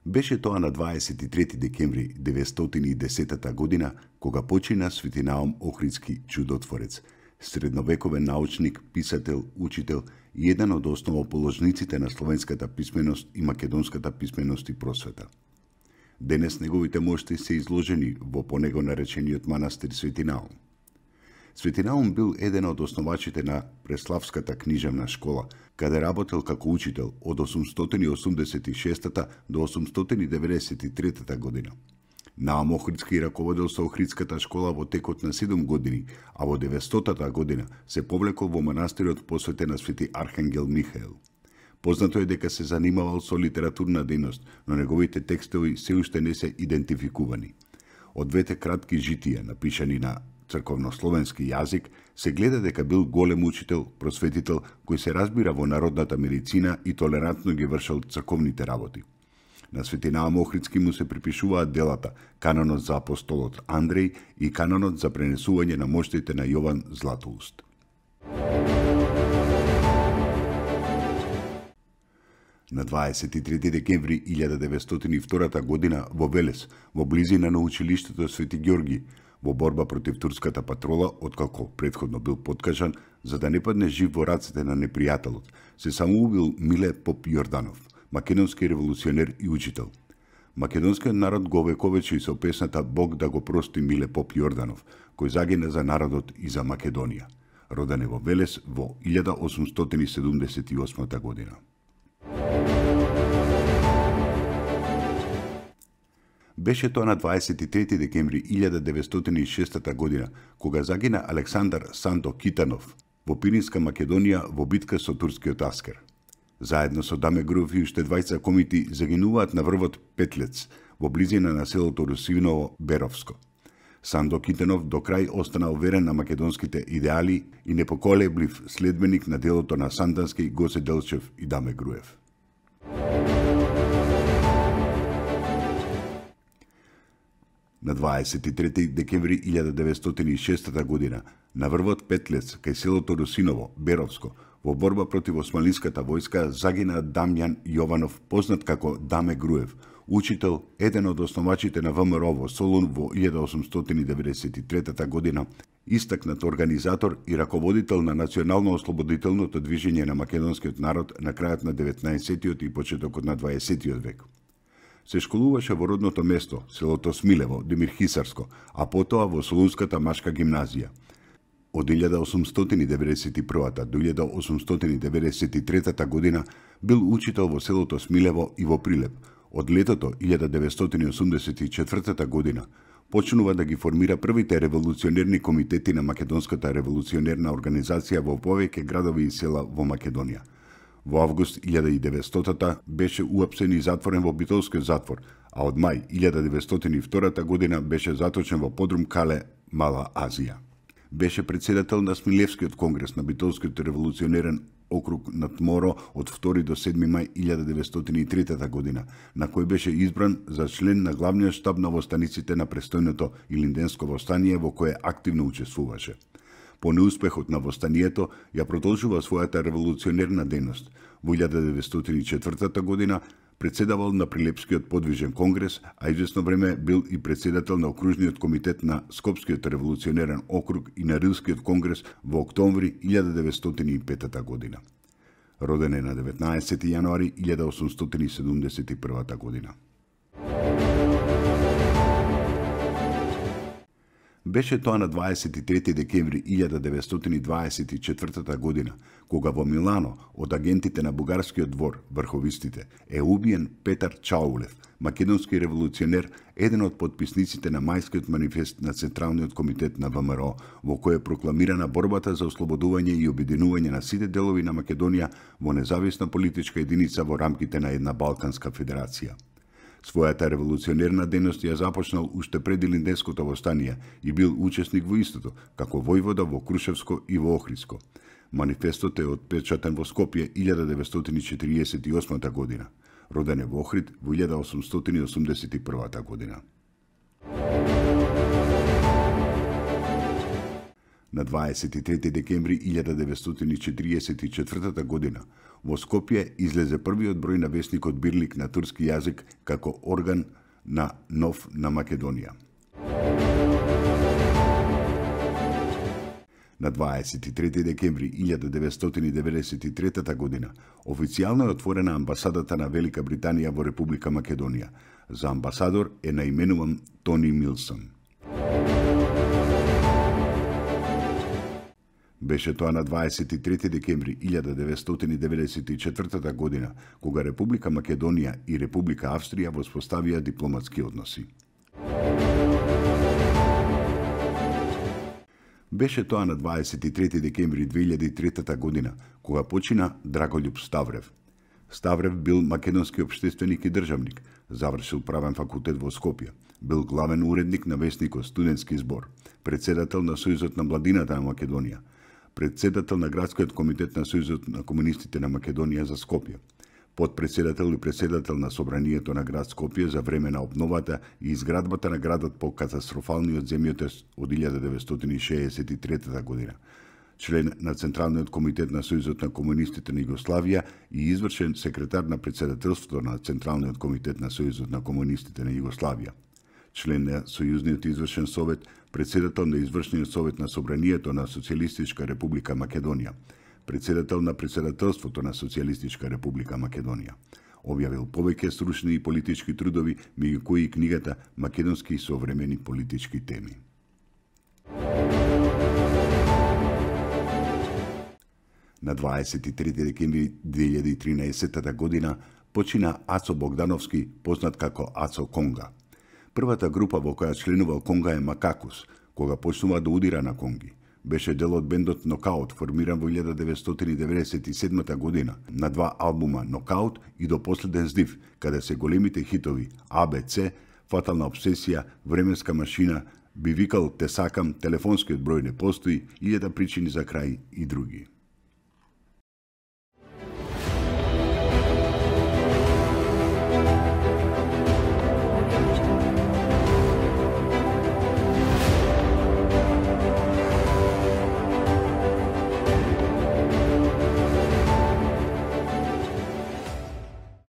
Беше тоа на 23 декември 910 година, кога почина Свети Наум Охридски чудотворец, средновековен научник, писател, учител и еден од основоположниците на словенската писменост и македонската писменост и просвета. Денес неговите мошти се изложени во по него наречениот манастир Свети Наум. Свети Наум бил еден од основачите на Преславската книжевна школа, каде работел како учител од 886 до 893 година. Наум Охридски раководел со Охридската школа во текот на 7 години, а во 900 година се повлекол во манастирот посветен на Свети Архангел Михаел. Познато е дека се занимавал со литературна дејност, но неговите текстови се уште не се идентификувани. Од двете кратки житија, напишани на црковнословенски јазик, се гледа дека бил голем учител, просветител, кој се разбира во народната медицина и толерантно ги вршел црковните работи. На Свети Наум Охридски му се припишуваат делата Канонот за апостолот Андреј и Канонот за пренесување на моштите на Јован Златоуст. На 23 декември 1902 година во Велес, во близина на училиштето Свети Ѓорги, во борба против турската патрола, откако претходно бил подкажан, за да не падне жив во рацете на непријателот, се самоубил Миле Поп Јорданов, македонски револуционер и учител. Македонскиот народ го овековечи со песната Бог да го прости Миле Поп Јорданов, кој загина за народот и за Македонија. Роден е во Велес во 1878 година. Беше тоа на 23 декември 1906 година, кога загина Александар Сандо Китанов во Пиринска Македонија во битка со турскиот аскер. Заедно со Даме Груев и уште двајца комити загинуваат на врвот Петлец, во близина на селото Русиново Беровско. Сандо Китанов до крај останал верен на македонските идеали и непоколеблив следбеник на делото на Сандански, Гоце Делчев и Даме Груев. На 23 декември 1906 година, на врвот Петлец, кај селото Русиново, Беровско, во борба против османлиската војска загина Дамјан Јованов, познат како Даме Груев, учител, еден од основачите на ВМРО во Солун во 1893 година, истакнат организатор и раководител на национално-ослободителното движење на македонскиот народ на крајот на 19-тиот и почетокот на 20-тиот век. Се школуваше во родното место, селото Смилево, Демир Хисарско, а потоа во Солунската машка гимназија. Од 1891 до 1893 година бил учител во селото Смилево и во Прилеп. Од летото 1984 година почнува да ги формира првите револуционерни комитети на Македонската револуционерна организација во повеќе градови и села во Македонија. Во август 1900 беше уапсен и затворен во Битолскиот затвор, а од мај 1902 година беше заточен во подрум Кале, Мала Азија. Беше председател на Смилевскиот конгрес на Битолскиот револуционерен округ на Тморо од 2 до 7 мај 1903 година, на кој беше избран за член на главниот штаб на востаниците на престојното Илинденско востание, во кое активно учествуваше. По неуспехот на востанието ја продолжува својата револуционерна дејност. Во 1904 година председавал на Прилепскиот подвижен конгрес, а извесно време бил и председател на окружниот комитет на Скопскиот револуционерен округ и на Рилскиот конгрес во октомври 1905 година. Роден е на 19 јануари 1871 година. Беше тоа на 23 декември 1924 година, кога во Милано од агентите на бугарскиот двор, врховистите, е убиен Петар Чаулев, македонски револуционер, еден од подписниците на мајскиот манифест на Централниот комитет на ВМРО, во кој е прокламирана борбата за ослободување и обединување на сите делови на Македонија во независна политичка единица во рамките на една Балканска федерација. Својата револуционерна дејност ја започнал уште пред Илинденското востание и бил учесник во истото, како војвода во Крушевско и во Охридско. Манифестот е отпечатен во Скопје 1948 година. Роден е во Охрид во 1881 година. На 23 декември 1944 година во Скопје излезе првиот број на весникот Бирлик на турски јазик како орган на нов на Македонија. На 23 декември 1993 година официјално е отворена амбасадата на Велика Британија во Република Македонија. За амбасадор е наименуван Тони Милсон. Беше тоа на 23 декември 1994 година, кога Република Македонија и Република Австрија воспоставија дипломатски односи. Беше тоа на 23 декември 2003 година, кога почина Драголюб Ставрев. Ставрев бил македонски општественик и државник, завршил правен факултет во Скопје, бил главен уредник на весникот Студентски збор, председател на Сојузот на младината на Македонија, председател на Градскиот комитет на Сојузот на комунистите на Македонија за Скопје, подпредседател и председател на Собранието на град Скопје за време на обновата и изградбата на градот по катастрофалниот земјотрес од 1963 година, член на Централниот комитет на Сојузот на комунистите на Југославија и извршен секретар на председателството на Централниот комитет на Сојузот на комунистите на Југославија, член на Сојузниот извршен совет, председател на извршниот совет на Собранието на Социјалистичка република Македонија, председател на председателството на Социјалистичка република Македонија. Објавил повеќе стручни и политички трудови, меѓу кои и книгата Македонски и современи политички теми. На 23 декември 2013 година почина Ацо Богдановски, познат како Ацо Конга. Првата група во која членувал Конга е Макакус, кога почнува да удира на конги. Беше дел од бендот Нокаут, формиран во 1997 година, на 2 албума Нокаут и До последен здив, каде се големите хитови ABC, Фатална обсесија, Временска машина, Би викал те сакам, Телефонскиот број не постои, 1000 причини за крај и други.